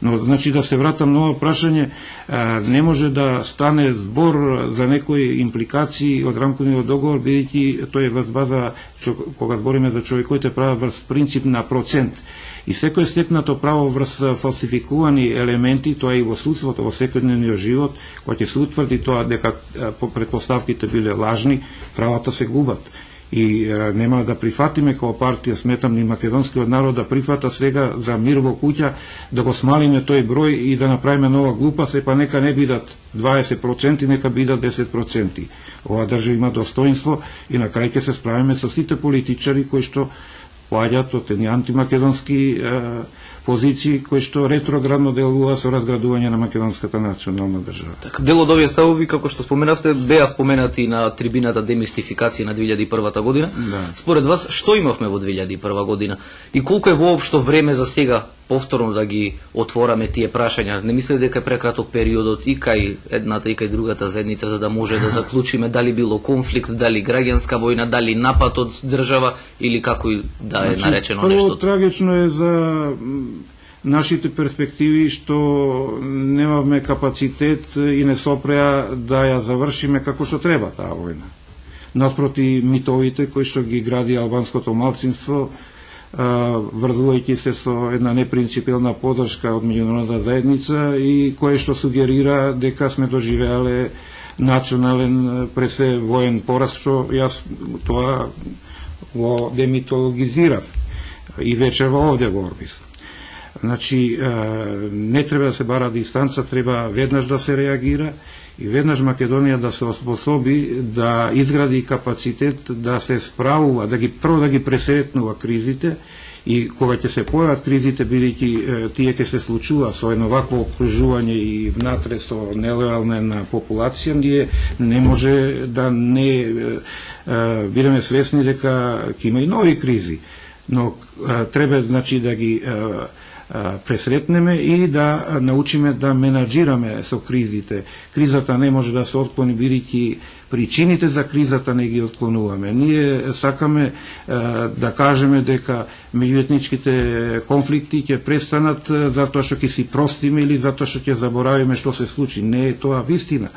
Но значи да се вратам на ова прашање, не може да стане збор за некои импликации од рамковниот договор, бидејќи тој е врз база, кога збориме за човековите права, врз принцип на процент. И секој стекнато право врз фалсификувани елементи, тоа и во судството, во секојдневниот живот, кога ќе се утврди тоа дека предпоставките биле лажни, правата се губат. И нема да прифатиме како партија, сметам ни македонскиот народ да прифата сега за мир во куќа, да го смалиме тој број и да направиме нова глупа, па нека не бидат 20%, нека бидат 10%. Ова држава има достоинство и на крај ќе се справиме со сите политичари кои што поаѓаат од едни антимакедонски позиции кои што ретроградно делува со разградување на македонската национална држава. Така, дел од овие ставови, како што споменавте, беа споменати на трибината демистификација на 2001 година. Да. Според вас, што имавме во 2001 година? И колку е воопшто време за сега повторно да ги отвораме тие прашања? Не мислите дека е прекраток периодот и кај едната и кај другата заедница за да може да заклучиме дали било конфликт, дали граѓанска војна, дали напад од држава или како и да е наречено нешто? Прво трагично е за нашите перспективи што немавме капацитет и не сопреа да ја завршиме како што треба таа војна. Наспроти митовите кои што ги гради албанското малцинство, врзувајќи се со една непринципилна поддршка од меѓународната заедница и кое што сугерира дека сме доживеале национален пресе воен пораз, што јас тоа го демитологизирав и вечерва овде во Орбис. Значи, не треба да се бара дистанца, треба веднаш да се реагира и веднаш Македонија да се оспособи да изгради капацитет да се справува, прво да ги пресретнува кризите и кога ќе се појават кризите, бидејќи тие ќе се случува со едно вакво окружување и внатре со нелојална популација, ние не може да не бидеме свесни дека ќе има и нови кризи, но треба значи да ги пресретнеме и да научиме да менаџираме со кризите. Кризата не може да се отклони, бидејќи причините за кризата не ги отклонуваме. Ние сакаме да кажеме дека меѓуетничките конфликти ќе престанат затоа што ќе си простиме или затоа што ќе заборавиме што се случи. Не е тоа вистина.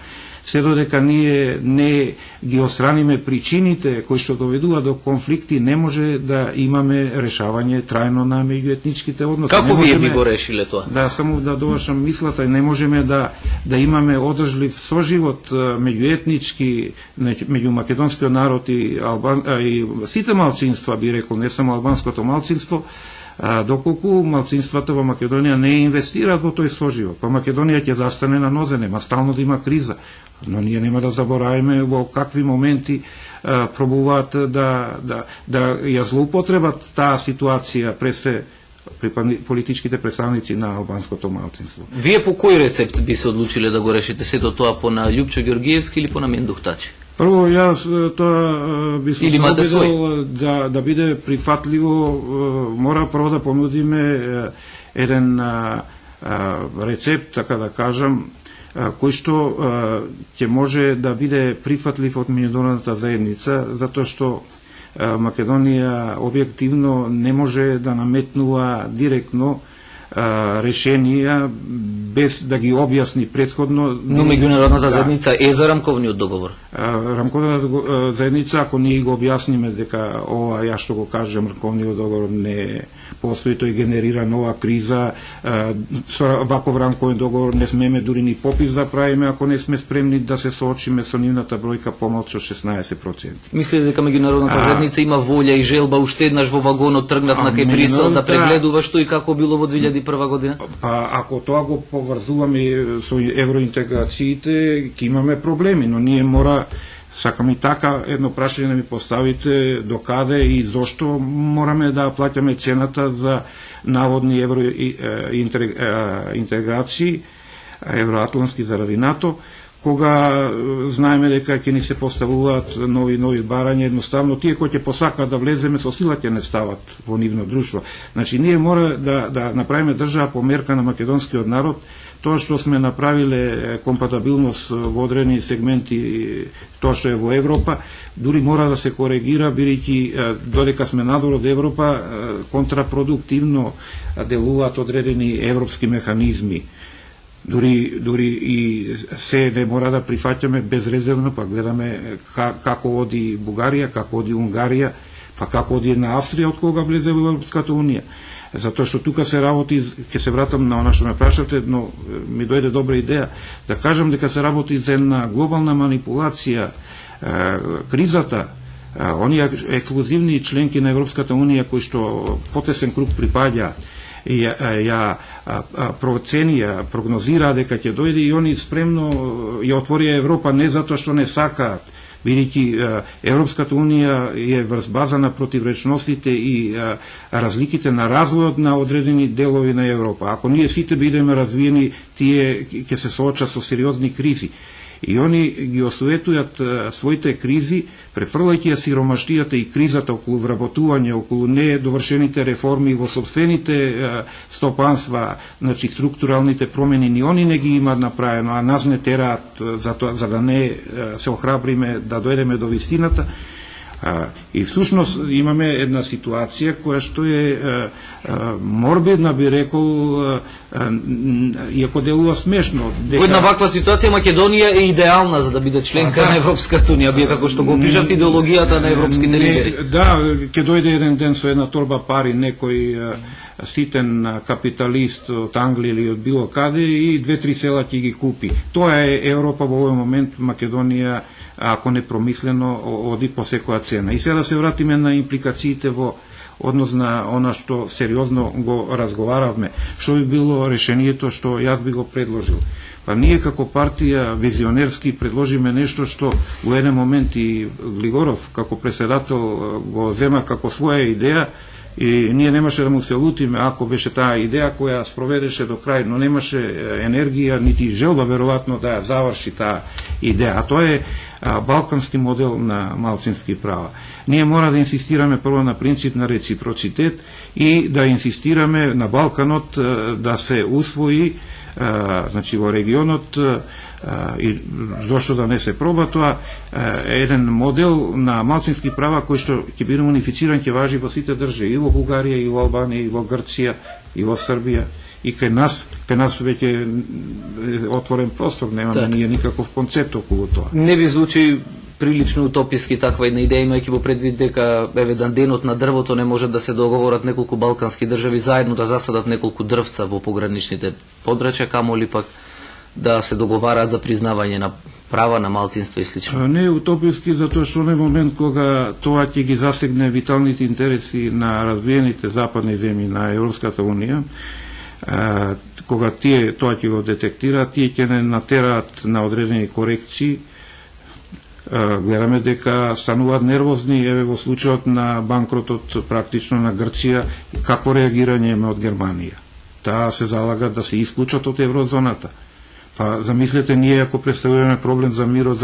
Се додека ние не ги отстраниме причините кои што доведува до конфликти, не може да имаме решавање трајно на меѓуетничките односи. Како вие би го решиле тоа? Да, само да довршам мислата, не можеме да имаме одржлив соживот меѓуетнички меѓу македонскиот народ и сите малцинства, би рекол, не само албанското малцинство, доколку малцинствата во Македонија не инвестираат во тој соживот. Па Македонија ќе застане на нозе, нема стално да има криза. Но ние нема да забораваме во какви моменти пробуваат да ја злоупотребат таа ситуација пред политичките представници на албанското малцинство. Вие по кој рецепт би се одлучиле да го решите сето тоа, по на Љупчо Ѓоргиевски или по на Мендух Тачи? Прво, јас тоа би се обидел да биде прифатливо, мора прво да понудиме еден рецепт, така да кажам, кој што ќе може да биде прифатлив од меѓународната заедница, затоа што Македонија објективно не може да наметнува директно решенија без да ги објасни претходно. Но меѓународната заедница е за рамковниот договор. Рамковната заедница, ако ние го објасниме дека ова, ја што го кажам, рамковниот договор не постои, тој генерира нова криза, со ваков рамковен договор не смеме дури ни попис да правиме ако не сме спремни да се соочиме со нивната бројка помалку од 16%. Мислите дека меѓународната заедница има волја и желба уште еднаш во вагонот тргнат на кај Брисел да прегледува што и како било во 2001 година? Па ако тоа го поврзуваме со евроинтеграциите, ќе имаме проблеми, но ние мора, сакам и така едно прашање да ми поставите докаде и зошто мораме да плаќаме цената за наводни евроинтеграции евроатлантски заради НАТО, кога знаеме дека ќе ни се поставуваат нови барања, едноставно тие кои ќе посакаат да влеземе со сила ќе не стават во нивно друштво. Значи ние мора да направиме држава по мерка на македонскиот народ. Тоа што сме направиле компатабилност во одредени сегменти, тоа што е во Европа, дури мора да се коригира, бидејќи додека сме надвор од Европа, контрапродуктивно делуваат одредени европски механизми. Дури и се не мора да прифаќаме безрезервно, па гледаме како оди Бугарија, како оди Унгарија, па како оди на Австрија од кога влезе во Европската унија. Затоа што тука се работи, ќе се вратам на она што ме прашате, но ми дојде добра идеја да кажам дека се работи за една глобална манипулација. Кризата, оние ексклузивни членки на Европската унија кои што потесен круг припаѓа, ја проценија, прогнозира дека ќе дојде и они спремно ја отворија Европа не затоа што не сакаат, бидејќи Европската унија е врз база на противречностите и разликите на развојот на одредени делови на Европа. Ако ние сите бидеме развиени, тие ќе се соочат со сериозни кризи. И они ги осуетујат своите кризи, префрлајќи ја сиромаштијата и кризата околу вработување, околу недовршените реформи во собствените стопанства, значи структуралните промени, ни они не ги имаат направено, а нас не тераат за да не се охрабриме да дојдеме до вистината. И всушност имаме една ситуација која што е морбидна, би рекол, иако делува смешно. Во една ваква ситуација Македонија е идеална за да биде членка на Европската унија, бие како што го пишавте идеологијата на европските лидери. Да, ќе дојде еден ден со една торба пари некој ситен капиталист од Англија или од било каде и 2-3 села ќе ги купи. Тоа е Европа во овој момент. Македонија, ако не промислено, оди по секоја цена. И сега да се вратиме на импликациите во однос на она што сериозно го разговаравме. Што би било решението што јас би го предложил? Па ние како партија визионерски предложиме нешто што во еден момент и Глигоров како председател го зема како своја идеја, и ние немаше да му се лутиме ако беше таа идеја која спроведеше до крај, но немаше енергија нити желба веројатно да ја заврши таа идеја. А тоа е балкански модел на малцински права. Ние мора да инсистираме прво на принцип на реципроцитет и да инсистираме на Балканот да се усвои, значи во регионот, и зошто да не се проба тоа, еден модел на малцински права кој што ќе биде унифициран, ќе важи во сите држави, и во Бугарија, и во Албанија, и во Грција, и во Србија, и кај нас веќе отворен простор, немаме ние никаков концепт околу тоа. Не ви звучи прилично утописки таква една идеја, имајќи во предвид дека еве денот на дрвото не може да се договорат неколку балкански држави заедно да засадат неколку дрвца во пограничните подрачја, камоли пак да се договараат за признавање на права на малцинства и слично. Не е утописки, затоа што на момент кога тоа ќе ги засегне виталните интереси на развиените западни земји на Европската унија, кога тие тоа ќе го детектираат, тие ќе не натераат на одредени корекции. Гледаме дека стануваат нервозни, еве во случајот на банкротот практично на Грција, како реагирање има од Германија. Таа се залагат да се исклучат од еврозоната. Па замислете, ние ако представуваме проблем за мирот,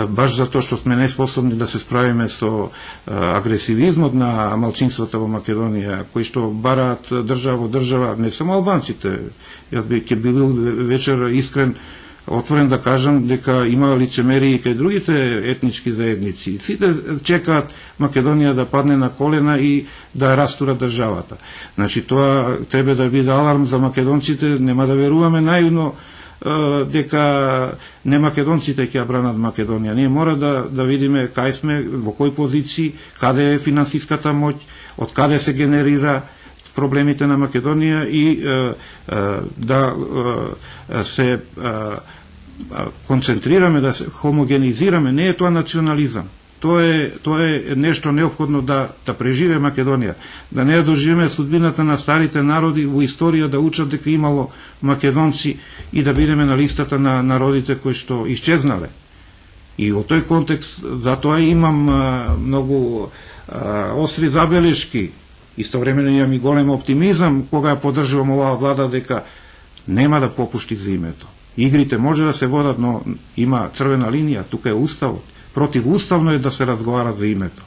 баш затоа што сме неспособни да се справиме со агресивизмот на малцинствата во Македонија, кои што бараат држава во држава, не само албанците. Јас ќе бил вечер искрен, отворен да кажам дека има лицемери и кај другите етнички заедници. Сите чекаат Македонија да падне на колена и да растура државата. Значи тоа треба да биде аларм за македонците, нема да веруваме наивно дека не македонците ќе ја бранат Македонија. Ние мора да видиме кај сме, во кој позиции, каде е финансиската моќ, од каде се генерира проблемите на Македонија и да се концентрираме, да се хомогенизираме. Не е тоа национализам. Тоа е нешто неопходно да преживе Македонија. Да не ја доживеме судбината на старите народи во историја, да учат дека имало македонци и да бидеме на листата на народите кои што исчезнале. И во тој контекст, затоа имам многу остри забелешки. Истовремено имам и голем оптимизам кога ја поддржувам оваа влада дека нема да попушти за името. Игрите може да се водат, но има црвена линија, тука е уставот. Противуставно е да се разговара за името.